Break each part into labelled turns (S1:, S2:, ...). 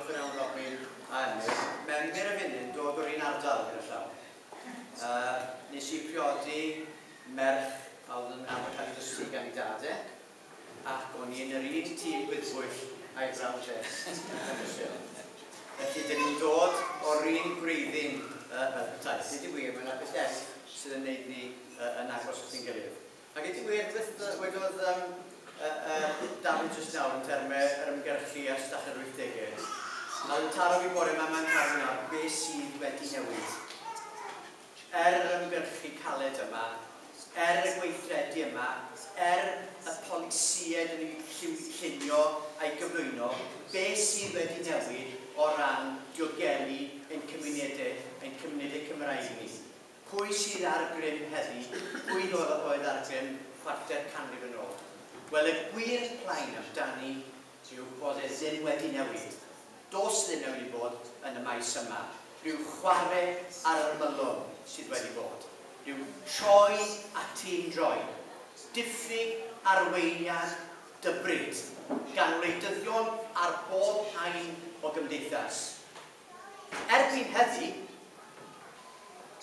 S1: Diolch yn iawn Robin a Emyr. Mewn y funud, dod o'r un ardal gyda llaw. Nes i priodi merch a oedd yn arfer cael ei dysgu gan ei dad, ac o'n i yn yr un tîm gwyddbwyll a'i brawd e. Felly, dyn ni'n dod o'r un gwreiddyn fel petai. Nid y gwir, mae yna beth eraill sydd yn gwneud ni yn agos at ein gilydd. Ac ydy gwir, beth wedodd Dafydd jyst nawr yn termau yr ymgyrchu ers dechrau'r 80au. A yn taro fi bore yma, mae'n taro nawr, beth sydd wedi newid? Er yr ymgyrchu caled yma, er y gweithredu yma, er y polisïau dyn ni'n llunio a'i gyflwyno, beth sydd wedi newid o ran diogelu ein cymunedau Cymraeg ni? Pwy sydd ar grym heddi? Pwy oedd ar grym chwarter canrif yn ôl? Wel, y gwir plaen amdani yw bod e ddim wedi newid. Does ddim newid i bod yn y maes yma. Rhyw chwarae ar yr ymylon sydd wedi bod. Rhyw troi a tîm droi. Diffyg arweiniad dybryd gan wleidyddion ar bob haen o gymdeithas. Erbyn heddi,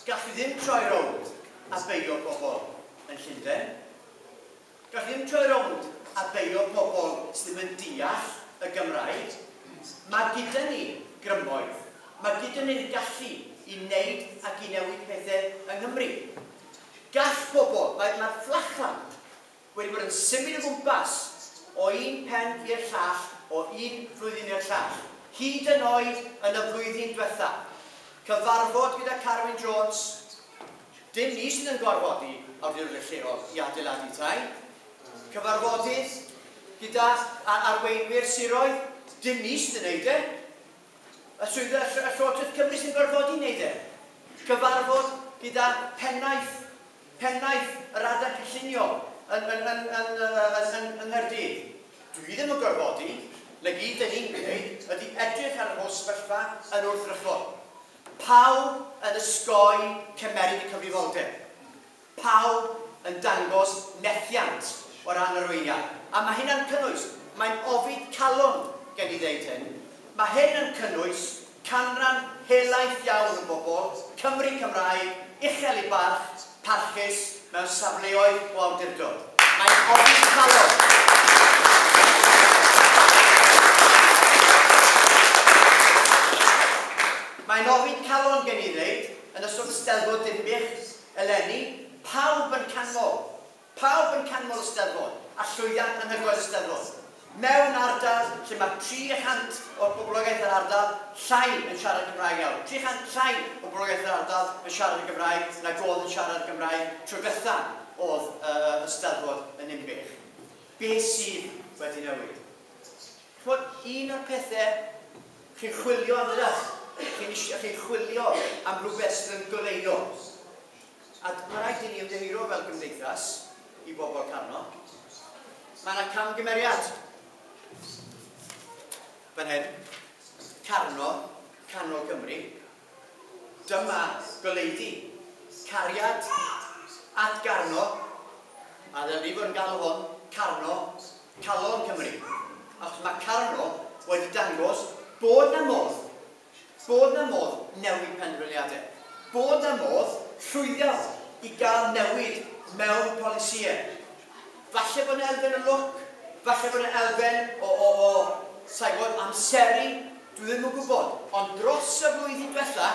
S1: gallu ddim troi rownd a beio pobl yn Llundain. Gallu ddim troi rownd a beio pobl sydd ddim yn deall y Gymraeg. Mae gyda ni grymoedd. Mae gyda ni'r gallu i wneud ac i newid pethau yng Nghymru. Gall pobl, mae'r fflachlamp wedi bod yn symud o gwmpas o un pen i'r llall, o un flwyddyn i'r llall. Hyd yn oed yn y flwyddyn diwetha. Cyfarfod gyda Carwyn Jones, dim ni sydd yn gorfodi awdurdodau lleol i adeiladu tai. Cyfarfodydd gyda arweinwyr siroedd, dim ni sydd yn neud e. Y swyddfa y Llywodraeth Cymru sy'n gorfodi wneud e. Cyfarfod gyda pennaeth yr adran cynllunio yn Nghaerdydd. Dwi ddim yn gorfodi, na gyd dyn ni'n gwneud ydy edrych ar yr holl sefyllfa yn wrthrychol. Pawb yn ysgoi cymeryd y cyfrifoldeb. Pawb yn dangos methiant o ran arweiniad. A mae hynna'n cynnwys, mae'n ofid calon gen i ddeud hyn, mae hyn yn cynnwys canran helaeth iawn o bobl, Cymru Cymraeg, uchel i barch, parchus mewn safleoedd o awdurdod. Mae'n ofid calon. Mae'n ofid calon gen i ddeud, yn ystod y Steddfod Dinbych eleni, pawb yn canmol y Steddfod, a llwyddiant anhygoel y Steddfod. Mewn ardal lle mae 300 o'r boblogaeth yr ardal llai yn siarad Cymraeg iawn. 300 llai o boblogaeth yr ardal yn siarad y Gymraeg nag oedd yn siarad Gymraeg tro diwetha oedd y Steddfod yn Ninbych. Beth sydd wedi newid? Ch'mod, un o'r pethau chi'n chwilio am ydych, chi'n chwilio am rhywbeth sydd yn goleuo. A mae rhaid i ni ymddiheuro fel gymdeithas i bobl Carno. Mae yna camgymeriad. Fan hyn, Carno, canol Cymru. Dyma goleudy, cariad at Garno, a ddylen ni fod yn galw hwn Carno, calon Cymru. Achos mae Carno wedi dangos bod na modd newid penderfyniadau, bod na modd llwyddo i gael newid mewn polisïau. Falle bod yna elfen o lwc, falle bod yna elfen o sa'n gwybod, amseru, dwi ddim yn gwybod. Ond dros y flwyddyn diwetha,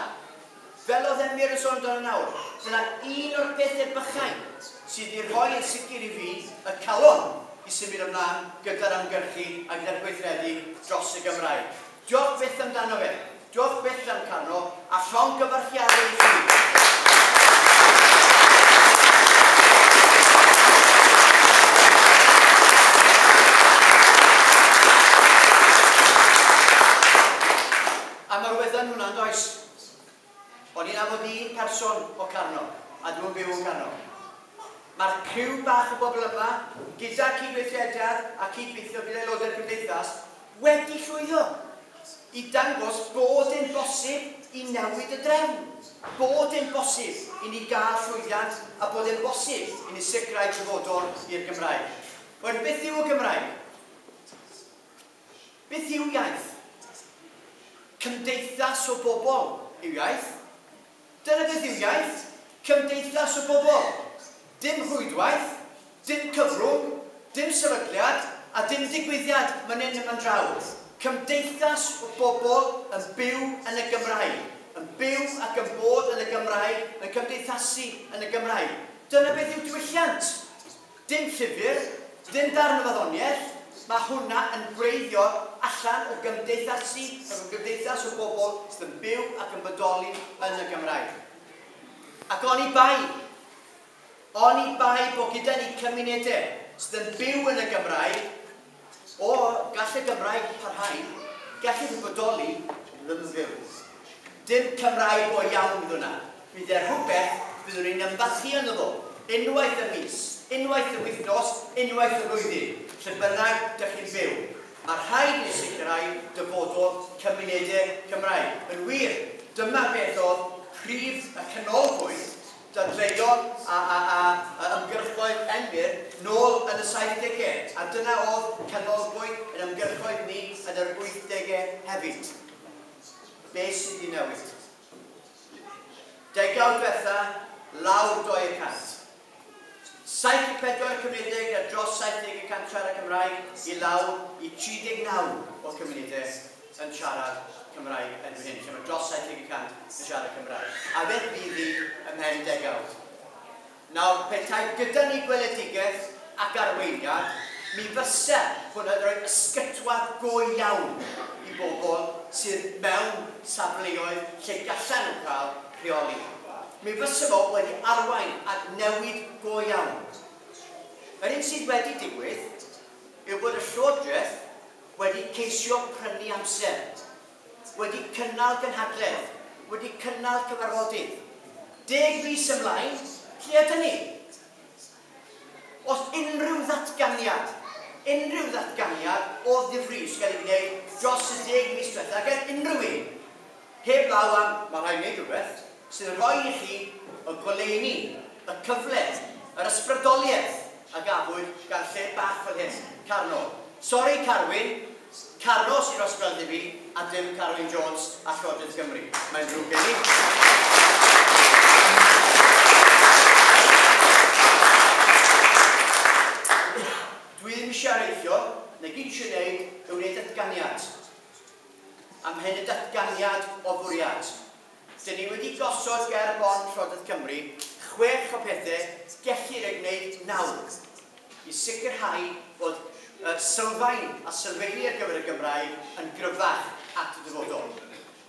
S1: fel oedd Emyr yn sôn amdano nawr, dyna un o'r pethau bychain sydd wedi rhoi yn sicr i fi y calon i symud ymlaen gyda'r ymgyrchu a gyda'r gweithredu dros y Gymraeg. Diolch byth amdano fe. Diolch byth am Carno, a llongyfarchiadau i chi. A mae'r weddan hwnna'n does. O'n i'n nabod un person o Carno, a dwi'n byw yn Carno. Mae'r criw bach o bobl yma, gyda cydweithrediad a cydweithio gyda aelodau'r gymdeithas, wedi llwyddo i dangos bod yn bosib i newid y drefn. Bod yn bosib i ni gael llwyddiant a bod yn bosib i ni sicrhau dyfodol i'r Gymraeg. Wel, beth yw y Gymraeg? Beth yw iaith? Cymdeithas o bobl yw iaith. Dyna beth yw iaith. Cymdeithas o bobl. Dim rhwydwaith, dim cyfrwng, dim sefydliad a dim digwyddiad man hyn a man draw. Cymdeithas o bobl yn byw yn y Gymraeg. Yn byw ac yn bod yn y Gymraeg, yn cymdeithasu yn y Gymraeg. Dyna beth yw diwylliant. Dim llyfr, dim darn o farddoniaeth, mae hwnna yn gwreiddio allan o gymdeithasu, o gymdeithas o bobl sydd yn byw ac yn bodoli yn y Gymraeg. Ac oni bai bod gyda ni cymunedau sydd yn byw yn y Gymraeg, o gall y Gymraeg parhau, gall ei bodoli ddim yn fyw. Dim Cymraeg go iawn fydd hwnna. Bydd e rhywbeth byddwn ni'n ymfalchïo ynddo fo. Unwaith y mis, unwaith y wythnos, unwaith y flwyddyn, lle bynnag dych chi'n byw. Mae rhaid i ni sicrhau dyfodol cymunedau Cymraeg. Yn wir, dyma beth oedd prif y canolbwynt dadleuon a ymgyrchoedd Emyr nôl yn y 70au. A dyna oedd canolbwynt yn ymgyrchoedd ni yn yr 80au hefyd. Be sydd wedi newid? Degawd diwetha, lawr 2%. 74 cymunedau gyda dros 70% siarad Cymraeg i lawr i 39 o cymunedau yn siarad Cymraeg erbyn hyn, lle mae dros 70% yn siarad Cymraeg. A beth fydd hi ymhen degawd? Nawr, petai gyda ni gweledigaeth ac arweiniad, mi fysa hwnna'n rhoi ysgytwad go iawn i bobl sydd mewn safleoedd lle gallan nhw cael rheoli. Mi fysa fo wedi arwain at newid go iawn. Yr un sydd wedi digwydd yw bod y Llywodraeth wedi ceisio prynu amser, wedi cynnal gynhadledd, wedi cynnal cyfarfodydd. 10 mis ymlaen, lle ydyn ni? Os unrhyw ddatganiad o ddifrif gael ei wneud dros y 10 mis diwethaf gan unrhyw un, heb law am, mae rhaid wneud rhywbeth, sydd yn rhoi i chi y goleuni, y cyfle, yr ysbrydoliaeth a gafwyd gan lle bach fel hyn, Carno. Sori Carwyn, Carno sy'n ysbrydoli fi, a dim Carwyn Jones a Llywodraeth Cymru. Mae'n ddrwg gen i. Dwi ddim eisiau areithio, na gyd eisiau gwneud yw wneud datganiad. Am hyn y datganiad o fwriad. Dyn ni wedi gosod ger bron Llywodraeth Cymru 6 o pethau gellir eu gwneud nawr i sicrhau bod sylfaen a sylfeini ar gyfer y Gymraeg yn gryfach at y dyfodol.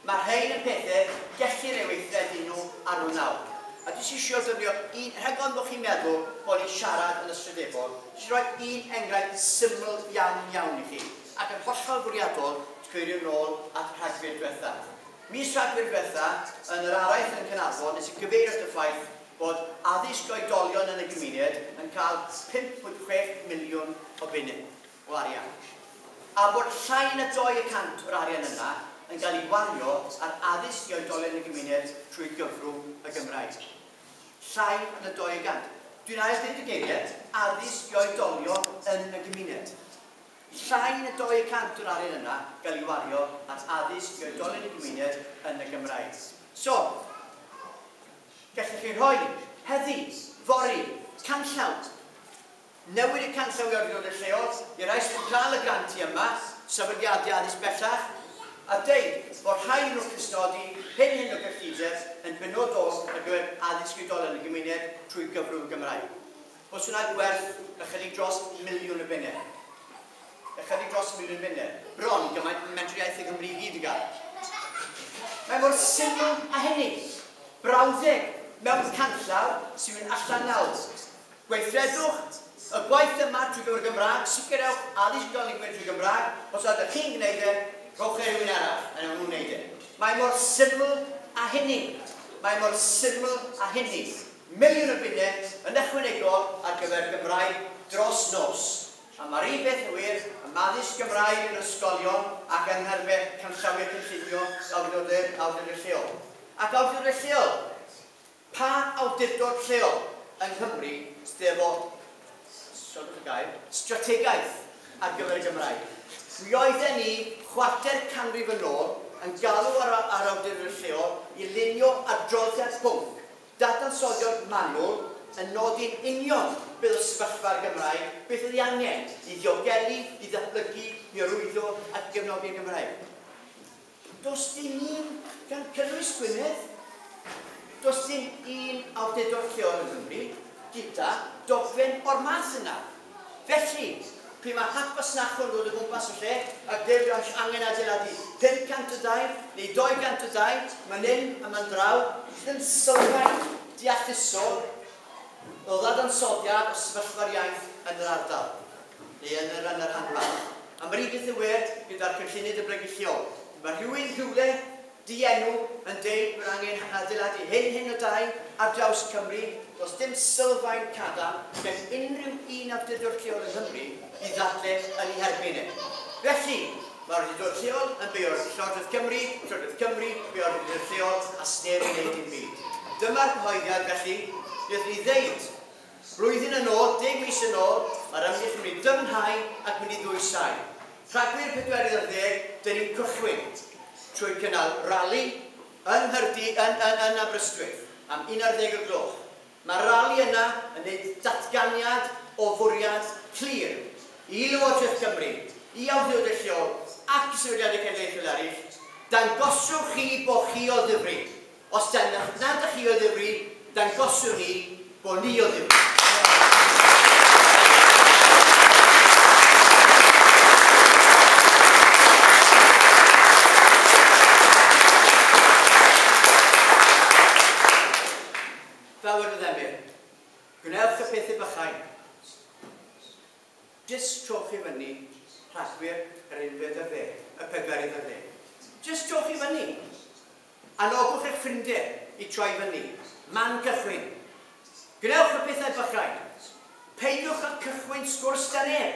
S1: Mae rhain yn pethau gellir eu weithredu nhw ar ôl nawr. A dwi eisiau defnyddio un, rhag ofn bod chi'n meddwl bod ni'n siarad yn ystrydebol, eisiau rhoi un enghraifft syml iawn iawn i chi, ac yn hollol fwriadol, cyfeirio nôl at Rhagfyr diwetha. Mis Rhagfyr diwetha, yn yr araith yn Caernarfon, nes i gyfeirio at y ffaith bod addysg oedolion yn y gymuned yn cael 5.6 miliwn o bunnau o arian. A bod llai na 2% o'r arian yna yn cael ei wario ar addysg i oedolion yn y gymuned trwy gyfrwng y Gymraeg. Llai na 2%. Dwi'n ail dweud y geiriau, addysg i oedolion yn y gymuned. Llai na 2% o'r arian yna gael ei wario ar addysg i oedolion y gymuned yn y Gymraeg. So, gallwch chi rhoi heddi, fory, canllaw. Newid y canllaw i awdurdodau lleol, i rai sydd yn cael y grantiau yma, sefydliadau addysg bellach, a deud bod rhai nhw'n cystodi hyn o gyllideb yn benodol ar gyfer addysg oedolion yn y gymuned trwy gyfrwng Gymraeg. Os hwnna gwerth ychydig dros 1 miliwn o bunnau. Ychydig dros 1 miliwn bunnau. Bron gymaint Menter Iaith y Gymru i gyd i gael. Mae mor syml a hynny. Brawddeg mewn canllaw sy'n mynd allan nawr. Gweithredwch y gwaith yma trwy gyfrwng Gymraeg, sicrhewch addysg oedolion trwy Gymraeg. Os ydych chi'n gwneud e, rhowch e rhywun arall, a wnawn nhw wneud e. Mae mor syml a hynny. Mae mor syml a hynny. 1 miliwn o bunnau yn ychwanegol ar gyfer Gymraeg dros nos. A mae'r un beth yn wir am addysg Gymraeg yn ysgolion ac yng ngherfau canllawiau cynllunio awdurdodau lleol. Ac awdurdodau lleol, pa awdurdod lleol yng Nghymru sydd efo, sori y gair, strategaeth ar gyfer y Gymraeg? Mi oedden ni 250 yn ôl yn galw ar awdurdod lleol i lunio adroddiad pwnc, dadansoddiad manwl yn nodi'n union beth oedd sefyllfa'r Gymraeg, beth oedd ei angen i ddiogelu, i ddatblygu, i hyrwyddo ac i gefnogi'r Gymraeg. Does dim un, gan cynnwys Gwynedd, does dim un awdurdod lleol yng Nghymru gyda dogfen o'r math yna. Felly, pryd mae hap fasnachol yn dod o gwmpas y lle, ac dweud bod angen adeiladu 500 o dai neu 200 o dai, man hyn a man draw, sydd yn sylfaen deallusol o ddadansoddiad o sefyllfa'r iaith yn yr ardal, neu yn yr, yn yr rhanbarth. A mae'r un peth yn wir gyda'r cynllunydd datblygu lleol. Mae rhywun rhywle dienw yn deud bod angen adeiladu hyn hyn o dai ar draws Cymru. Does dim sylfaen cadarn gan unrhyw un awdurdod lleol yng Nghymru i ddadle yn ei herbyn e. Felly, mae'r awdurdod lleol yn beio'r Llywodraeth Cymru, Llywodraeth Cymru, beio'r awdurdod lleol, a sneb yn gwneud dim byd. Dyma'r cyhoeddiad felly, wnaethon ni ddeud, blwyddyn yn ôl, 10 mis yn ôl, mae'r ymgyrch yn mynd i dyfnhau ac mynd i ddwysau. Rhagfyr 14, dyn ni'n cychwyn trwy cynnal rali yng Nghyrdi, yn Aberystwyth, am 11 o'r gloch. Mae'r rali yna yn gwneud datganiad o fwriad clir i Lywodraeth Cymru, i awdurdodau lleol ac i sefydliadau cenedlaethol eraill. Dangoswch chi bod chi o ddifri. Os nad ydych chi o ddifri, dangoswn ni bod ni o ddifri. Fel wedodd Emyr, gwnewch y pethau bychain. Jyst trowch i fyny Rhagfyr yr unfed ar ddeg, y pedwerydd ar ddeg. Jyst trowch i fyny. Anogwch eich ffrindiau i troi fyny. Man cychwyn. Gwnewch y pethau bychain. Peidiwch â cychwyn sgwrs da neb,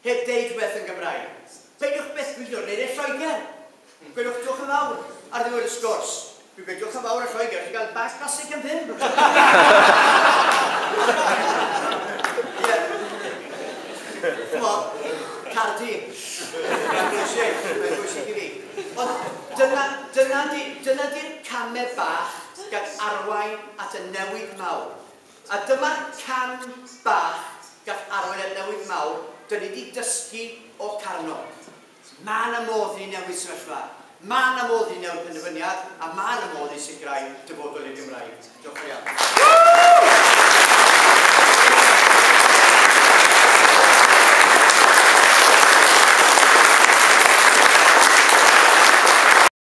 S1: heb deud rhywbeth yn Gymraeg. Peidiwch byth gwylio wneud e Lloegr. Gwelwch diolch yn fawr ar ddiwedd y sgwrs. Dwi'n gweud diolch yn fawr ar Lloegr, ti'n cael bag plastig am ddim. Ie. Ch'mo, Cardi. Mae'n bwysig, mae'n bwysig i fi. Ond dyna, dyna di, dyna di'r camau bach gan arwain at y newid mawr. A dyma'r cam bach gall arwain at newid mawr, dyn ni wedi dysgu o Carno. Mae yna modd i newid sefyllfa. Mae yna modd i newid penderfyniad, a mae yna modd i sicrhau dyfodol i'r Gymraeg. Diolch yn fawr iawn.